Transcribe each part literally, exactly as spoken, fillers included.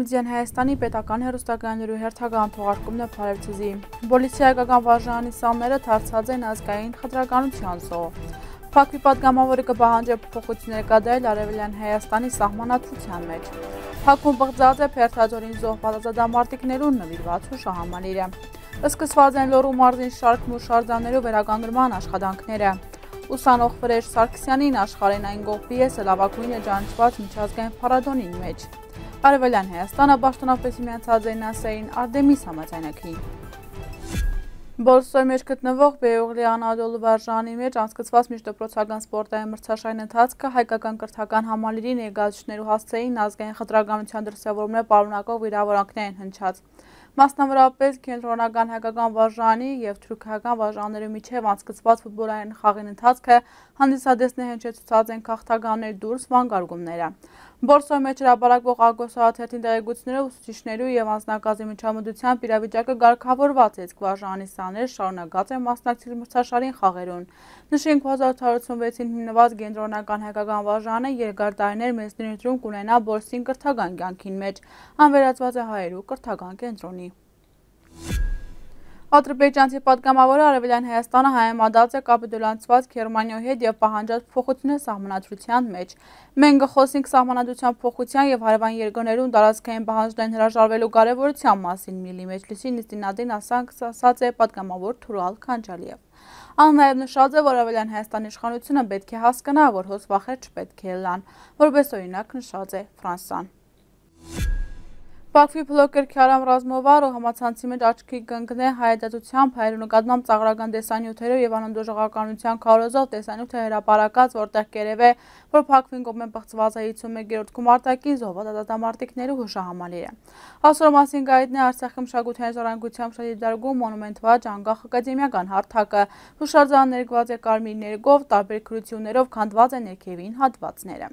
Միացյալ Հայաստանի պետական հեռուստակայաններու հերթական թողարկումն է, բարեւ ձեզի։ Պոլիսի հայկական վարժարանի սանները դարձած են ազգային խտրականութեան զոհ։ Բաքվի պատգամաւորը կը պահանջէ փոփոխութիւններ կատարել Արեւելեան Հայաստանի սահմանադրութեան մէջ։ Բաքուն պղծած է Բերդաձորին զոհուած ազատամարտիկներուն նուիրուած հուշահամալիրը։ Սկսուած են Լոռու մարզին շարք մուշարձաններու վերականգնման աշխատանքները։ Ուսանող Վրէժ Սարգսեանին աշխարհէն այն կողմ պիեսը լաւագոյնը ճանչուած միջազգային փառատոնին մէջ։ Արեւելեան Հայաստանը պաշտօնապէս միացած է նասայի Արտեմիս համաձայնագիրին։ Պոլսոյ մէջ գտնուող Բեուղլի Անատոլու վարժարանի մէջ անցկացուած միջդպրոցական սպորտային մրցաշարի ընթացքը հայկական կրթական համալիրի ներկայացուցիչներու հասցէին ազգային խտրականութեան դրսեւորումներ պարունակող վիրաւորանքներ են հնչած։ Մասնավորապէս, կենտրոնական հայկական վարժարանի եւ թուրքական վարժարաններու միջեւ անցկացուած ֆուտբոլային խաղին ընթացքը հանդիսատեսներ հնչեցուցած են գաղթականներ դուրս վանկարկումները։ Պոլսոյ մէջ հրապարակուող Ագոս Արաթերթին տեղեկություններով, ուսուցիչներու եւ անձնակազմի միջամտությամբ իրավիճակը կարգաւորուած է, իսկ վարժարանի սաներ շարունակած են մասնակցել մրցաշարին խաղերուն։ Նշենք, հազար ութ հարյուր ութսունվեցին հիմնուած կենտրոնական հայկական վարժարանը երկար տարիներ մեծ ներդրում կունենայ Պոլսին կրթական կեանքին մէջ։ Ան վերածուած է հայերու կրթական կենտրոնի։ Ադրբեջանցի պատգամաւորը Արեւելեան Հայաստանը հայեմատած է կապիտուլացուած Գերմանիոյ հետ եւ պահանջած փոխութիւնը սահմանադրութեան մէջ։ «Մենք կը խօսենք սահմանադրութեան փոխութեան եւ հարեւան երկրներուն տարածքային պահանջներուն հրաժարվելու կարեւորութեան մասին», Միլլի Մեջլիսի նիստին ատեն ասանք, ասած է պատգամաւոր Թուրալ Քանջալիեւ։ Ան նաեւ նշած է, որ Արեւելեան Հայաստանի իշխանութիւնը պէտք է հասկնայ, որ հոս վախեր չպէտք է ըլլան, որպէս օրինակ նշած է Ֆրանսան։ Բաքվի բլոգեր Քիարամ Ռազմովարը համացանցի մէջ աչքի կընկնէ հայատյացութեամբ հայերու նկատմամբ ծաղրական տեսանիութերով եւ անընդդժողականութեան քարոզով տեսանիւթը հրապարակած, որտեղ կ'երեւէ, որ Բաքվին կողմէ պղծուած է հիսուն մէկերորդ գումարտակին զոհուած ազատամարտիկներու հուշահամալիրը։ Ասոր մասին կայտնէ Արցախի մշակութային ժառանգության մշակդիտարկում մոնումենտ վաճ անկախ ակադեմիական հարթակը։ Հուշարձանը ներկուած է կարմիր ներկով, տարբեր գրութիւններով քանդուած է ներքեւին հատուածները։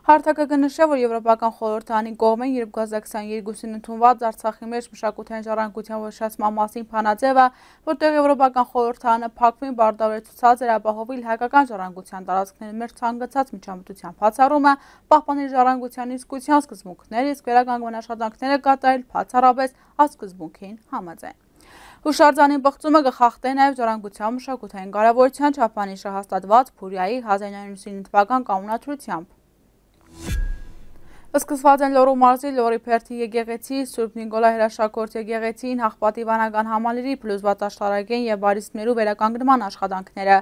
Հարթակը կը նշէ, որ Եվրոպական խորհրդանի կողմէն երկու հազար քսանեքին ընդունուած Արցախի մէջ մշակութային ժառանգության ոչնչացման մասին բանաձեւը, որտեղ Եվրոպական խորհրդանը Բաքվին պարտավորեցուցած էր ապահովել հայկական ժառանգության տարածքներուն մէջ ցանկացած միջամտության բացառումը, պահպանել ժառանգության իսկության սկզբունքները, իսկ վերականգնման աշխատանքները կատարել բացառապէս այդ սկզբունքին համաձայն։ Հուշարձանին պղծումը կը խախտէ նաեւ ժառանգության մշակութային կարեւորութեան չափանիշը հաստատուած Փուրիայի հազար ինը հարիւր ութսուն թուական կանոնադրութեամբ։ Սկսուած են Լոռու մարզի Լոռի Բերդի եկեղեցի, Սուրբ Նիկոլայ հրաշագործ եկեղեցին, Հաղպատի վանական համալիրի փլուզուած աշտարակէն եւ բարիսպներու վերականգնման աշխատանքները։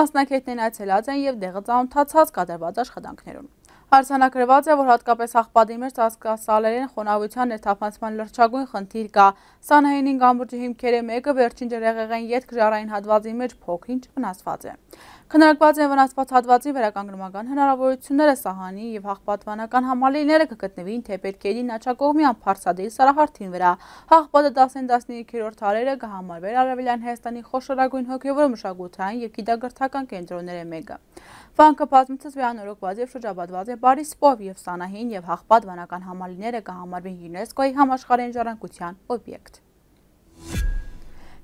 Մասնակիցներն այցելած են եւ տեղը ծանօթացած կատարուած աշխատանքներուն։ Արձանագրուած է, որ յատկապէս Հաղպատի մէջ ծածկասալերէն խոնաւութեան ներթափանցման լրջագոյն խնդիր կայ։ Սանահինին կամուրջի հիմքերէ մէկը վերջին ջրհեղեղէն ետք ժառային հատուածին մէջ փոքր-ինչ վնասուած է։ Քննարկուած են վնասուած հատուածին վերականգնման հնարաւորութիւնները, սահանի եւ Հաղպատ վանական համալիրները կը գտնուին թէպէտ գետին աջակողմեան փարսատի սարահարթին վրա։ Հաղպատը տասնեան տասներկերորդ դարերը կը համարուէր Արեւելեան Հայաստանի խոշորագոյն հոգեւոր, մշակութային եւ գիտակրթական կենտրոններէ մէկը։ Վանքը բազմիցս վերանորոգուած եւ շրջապատուած է բարիսպով, եւ Սանահին եւ Հաղպատ վանական համալիրները կը համարուին ЮNESCO-ի համաշխարհային ժառանգության օբյեկտ։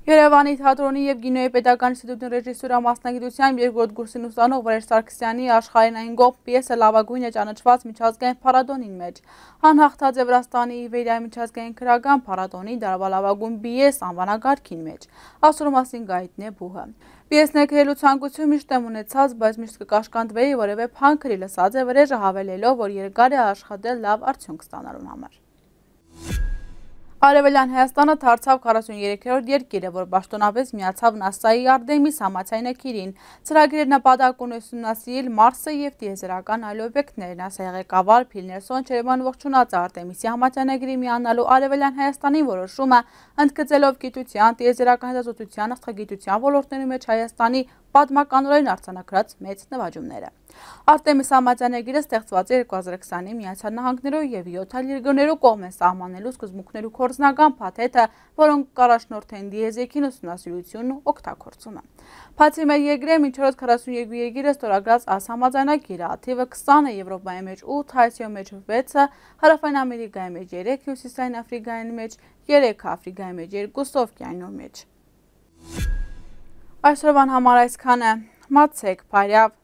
Երեւանի թատրոնի եւ կինոյի պետական ինստիտուտին ռեժիսուրա մասնագիտությամբ երկրորդ կուրսին ուսանող Վրէժ Սարգսեանի աշխարհին այն կողմ պիեսը լաւագոյնը ճանաչուած միջազգային փառատոնին մէջ։ Ան հաղթած է Վրաստանի Իվերիայի միջազգային գրական փառատոնի դարավա լաւագոյն պիես անուանակարգին մէջ։ Ասոր մասին կայտնէ բուհը։ Պիես ներգրելու ցանկութիւն միշտ եմ ունեցած, բայց միշտ կը կաշկանդուէի որեւէ բան գրի, լսած է Վրէժը, հավելելով, որ երկար է աշխատել լաւ արդիւնք ստանալուն համար։ Արեւելեան Հայաստանը դարձաւ քառասուներկերորդ երկիրը, որ պաշտօնապէս միացաւ նասայի Արտեմիս համաձայնագիրին։ Ծրագիրը նպատակ ունի ուսումնասիրել Մարսը եւ տիեզերական այլ օբյեկտներ։ նասայի ղեկավար Փիլ Նելսոն ջերմեն ողջունած է Արտեմիսի համաձայնագիրի միանալու Արեւելեան Հայաստանին որոշումը, ընդգծելով գիտության, տիեզերական հետազոտության, աստղագիտության ոլորտներու մէջ Հայաստանի պատմականորեն արձանագրած մեծ նվաճումները։ Արտեմիս համաձայնագիրը ստեղծուած է երկու հազար քսանին Միացյալ Նահանգներու եւ յոթ այլ երկրներու կողմէ սահմանելու սկզբունքներու գործնական փաթեթը, որոնք կառաջնորդեն դիեզերքին ուսումնասիրությունն ու օգտագործումը։ Բացի մեր երկրէն, մինչ օրս քառասուն երկու երկիրը ստորագրած այս համաձայնագիրը, թիվը քսանը Եվրոպայի մէջ, ութ Ասիոյ մէջ, վեցը Հարաւային Ամերիկայի մէջ, երեք Հիւսիսային Աֆրիկայի մէջ, երեքը Աֆրիկայի մէջ, երկուսը Օվկիանիոյ մէջ։ Այսօրվան համար այսքանը։ Մացեք, բարեւ։